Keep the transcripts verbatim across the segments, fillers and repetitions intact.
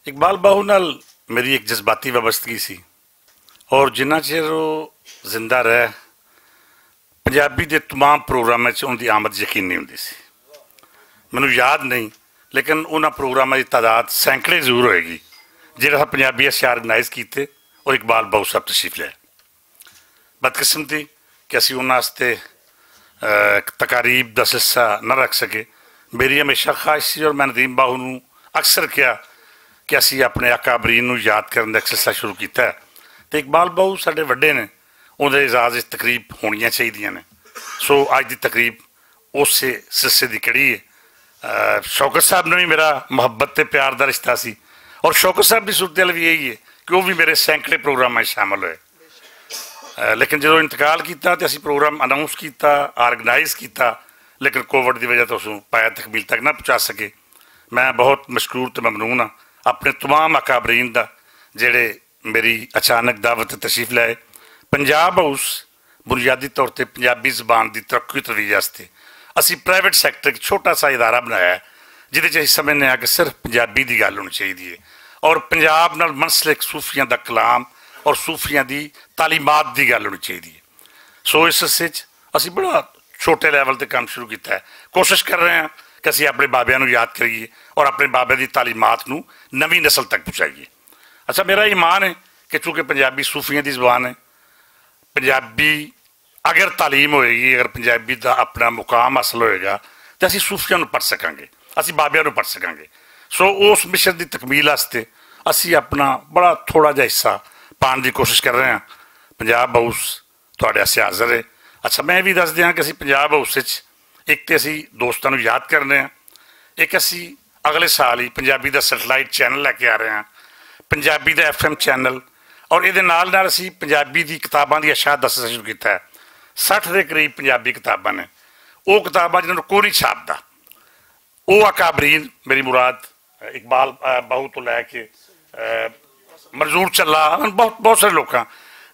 اقبال باہو نال میری ایک جذباتی وابستگی سی، اور جنہ چیر وہ زندہ رہے، پنجابی دے تمام پروگراماں 'چ ان دی آمد یقینی ہوندی سی۔ مینوں یاد نہیں، لیکن انہاں پروگراماں دی تعداد سینکڑے ضرور ہوئے گی، جہڑا پنجابی اسے آرگنائز کیتے اور اقبال باہو صاحب تشریف لے۔ بدقسمتی کہ اسی انہاں واسطے تقاریب دا سلسلہ نہ رکھ سکے۔ میری ہمیشہ خواہش سی اور میں ندیم باہو نوں اکثر کہا کہ اسی اپنے اکابرین نوں یاد کرن دا ایک سلسلہ شروع کیتا ہے، تے اقبال باہو ساڈے وڈے نے، انہاں دے اعزاز وچ تقریب ہونیاں چاہیدیاں نے۔ سو اج دی تقریب اس سلسلے دی کڑی ہے۔ شوکت صاحب نے بھی میرا محبت تے پیار دا رشتہ سی، اور شوکت صاحب دی صورتحال بھی یہی ہے کہ وہ بھی میرے سینکڑے پروگراماں 'چ شامل ہوئے۔ لیکن جدوں انتقال کیتا تے اسی پروگرام اناؤنس کیتا، آرگنائز کیتا، لیکن کووڈ دی وجہ تو اسوں پایا تکمیل تک نہ پہنچا سکے۔ میں بہت مشکور تے ممنون ہاں اپنے تمام اکابرین دا، جڑے میری اچانک دعوت تے تشریف لائے۔ پنجاب ہاؤس بنیادی طور تے پنجابی زبان دی ترقی و ترویج واسطے اسی پرائیویٹ سیکٹر ایک چھوٹا سا ادارہ بنایا ہے، جدے چ اسی سمجھنے ہاں کہ صرف پنجابی دی گل ہونی چاہیدی ہے اور پنجاب نال منسلک صوفیاں دا کلام اور صوفیاں دی تعلیمات دی گل ہونی چاہیدی ہے۔ سو اس حصے چ اسی بڑا چھوٹے لیول تے کام شروع کیتا ہے۔ کوشش کر رہے ہیں کہ اسی اپنے بابیاں نوں یاد کریے اور اپنے بابیاں دی تعلیمات نوں نویں نسل تک پہنچائیے۔ اچھا، میرا ایمان ہے کہ چونکہ پنجابی صوفیاں دی زبان ہے، پنجابی اگر تعلیم ہوئے گی، اگر پنجابی دا اپنا مقام حاصل ہوئے گا، تے اسی صوفیاں نوں پڑھ سکاں گے، اسی بابیاں نوں پڑھ سکاں گے۔ سو اس مشن دی تکمیل واسطے اسی اپنا بڑا تھوڑا جہا حصہ پان دی کوشش کر رہے ہیں۔ پنجاب ہاؤس تہاڈے واسطے حاضر ہے۔ اچھا، میں یہ بھی دس دیاں کہ اسی پنجاب ہاؤس وچ ایک تے اسی دوستاں نوں یاد کرنے ہیں، ایک اسی اگلے سال ہی پنجابی دا سیٹلائٹ چینل لے کے آ رہے ہیں، پنجابی دا ایف ایم چینل، اور یہ نال نال اسی پنجابی دی کتاباں دی اشاعت دسنا شروع کیتا ہے۔ سٹھ دے قریب پنجابی کتاباں نے، وہ کتاباں جنہاں نوں کوئی نہیں چھاپدا۔ وہ اکابرین، میری مراد اقبال باہو تو لے کے منظور چلا، بہت بہت سارے لوکاں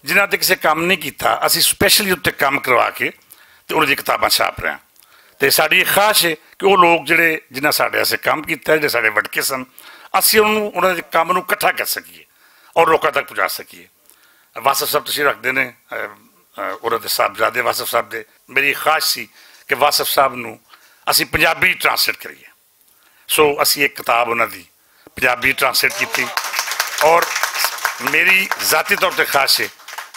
جنہاں تے کسے کام نہیں کیتا، اسی سپیشلی اتنے کام کروا کے تے انہاں دی کتاباں چھاپ رہے ہیں۔ تے ساڈی ایک خواہش ہے کہ وہ لوگ جڑے، جنہاں ساڈے ایسے کام کیتا ہے، جڑے ساڈے وڈکے سن، اسی انہاں نوں، انہاں دے کام نوں اکٹھا کر سکیے اور لوکاں تک پہنچا سکیے۔ واصف صاحب تشریف رکھدے نے، انہاں دے صاحبزادے واصف صاحب دے۔ میری خواہش سی کہ واصف صاحب نوں اسی پنجابی ٹرانسلیٹ کریے۔ سو اسی ایک کتاب انہاں دی پنجابی ٹرانسلیٹ کیتی، اور میری ذاتی طور تے خواہش ہے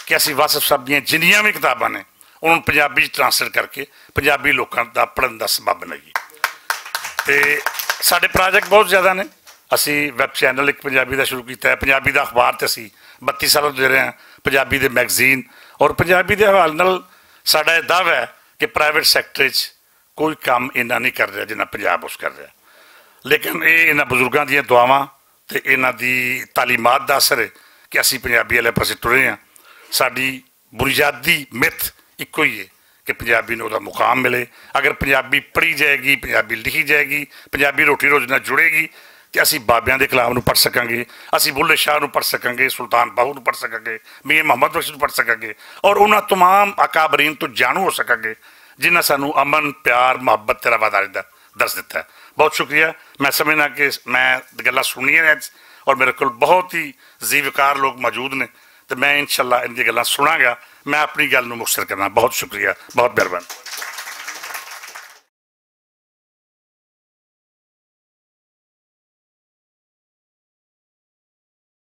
کہ اسی واصف صاحب دیاں جنیاں وی کتاباں نے، انہاں نوں پنجابی ٹرانسلیٹ کر کے پنجابی لوکاں دا پڑھن دا سبب بنائیے۔ تے ساڈے پروجیکٹ بہت زیادہ نے۔ اسی ویب چینل ایک پنجابی دا شروع کیتا ہے، پنجابی دا اخبار تے اسی بتی سال دے رہے ہیں، پنجابی دے میگزین، اور پنجابی دے حوالے نال ساڈا یہ دعویٰ ہے کہ پرائیویٹ سیکٹر وچ کوئی کام انہاں نہیں کر رہا جنہاں پنجاب اس کر رہا۔ لیکن یہ انہاں بزرگاں دیاں دعاواں تے انہاں دی تعلیمات دا اثر ہے کہ اسی پنجابی والے پاسے ٹرے ہاں۔ ساڈی بنیادی مت اکو ہی ہے کہ پنجابی نوں دا مقام ملے۔ اگر پنجابی پڑھی جائے گی، پنجابی لکھی جائے گی، پنجابی روٹی روز نال جڑے گی، تے اسی بابیاں دے کلام نوں پڑھ سکاں گے، اسی بلے شاہ نوں پڑھ سکاں گے، سلطان باہو نوں پڑھ سکاں گے، میاں محمد بخش نوں پڑھ سکاں گے، اور انہاں تمام اکابرین تو جانو ہو سکاں گے جنہاں سانوں امن، پیار، محبت تے رواداری دا درس دتا ہے۔ بہت شکریہ۔ میں سمجھنا کہ میں گلاں سنیاں نے اج، اور میرے کول بہت ہی زیوکار لوگ موجود نے، تے میں انشاءاللہ ان دی گلاں سناں گا۔ میں اپنی گل نوں مختصر کرنا۔ بہت شکریہ، بہت مہربانی۔